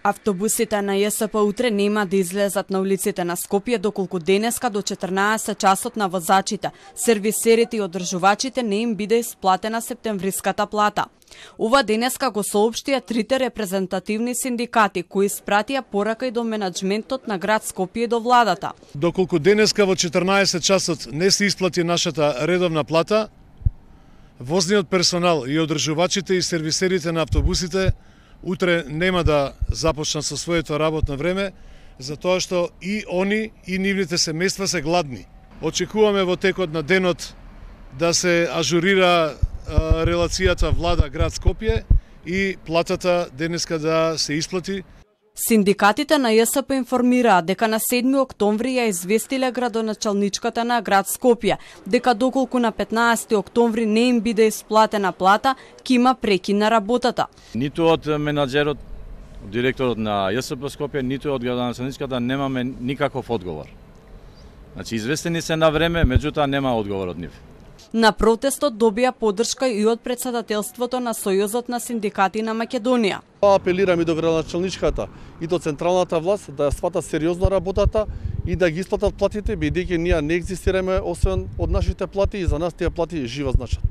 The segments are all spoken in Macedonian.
Автобусите на ЈСП утре нема да излезат на улиците на Скопје доколку денеска до 14 часот на возачите, сервисерите и одржувачите не им биде исплатена септемвриската плата. Ова денеска го соопштија трите репрезентативни синдикати кои испратија порака и до менаџментот на град Скопје и до владата. Доколку денеска во 14 часот не се исплати нашата редовна плата, возниот персонал и одржувачите и сервисерите на автобусите утре нема да започнат со своето работно време, затоа што и они и нивните семејства се гладни. Очекуваме во текот на денот да се ажурира релацијата влада град Скопје и платата денеска да се исплати. Синдикатите на ЈСП информираат дека на 7 октомври ја известиле градоначалничката на град Скопје, дека доколку на 15 октомври не им биде исплатена плата, ќе има прекин на работата. Ниту од менаџерот, директорот на ЈСП Скопје, ниту од градоначалничката немаме никаков одговор. Значи, известени се на време, меѓутоа нема одговор од нив. На протестот добија поддршка и од председателството на Сојузот на синдикати на Македонија. Апелирам и до градоначалничката и до централната власт да ја сватат сериозно работата и да ги исплатат платите, бидејќи ние не екзистираме освен од нашите плати и за нас тие плати живо значат.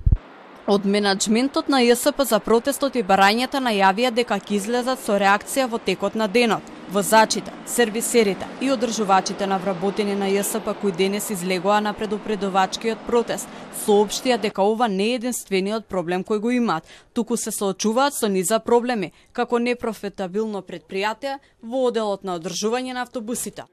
Од менаџментот на ЈСП за протестот и барањата најавија дека ќе излезат со реакција во текот на денот. Возачите, сервисерите и одржувачите на вработени на ЈСП кои денес излегоа на предупредувачкиот протест соопштија дека ова не е единствениот проблем кој го имаат, туку се соочуваат со низа проблеми, како непрофитабилно претпријатие во оделот на одржување на автобусите.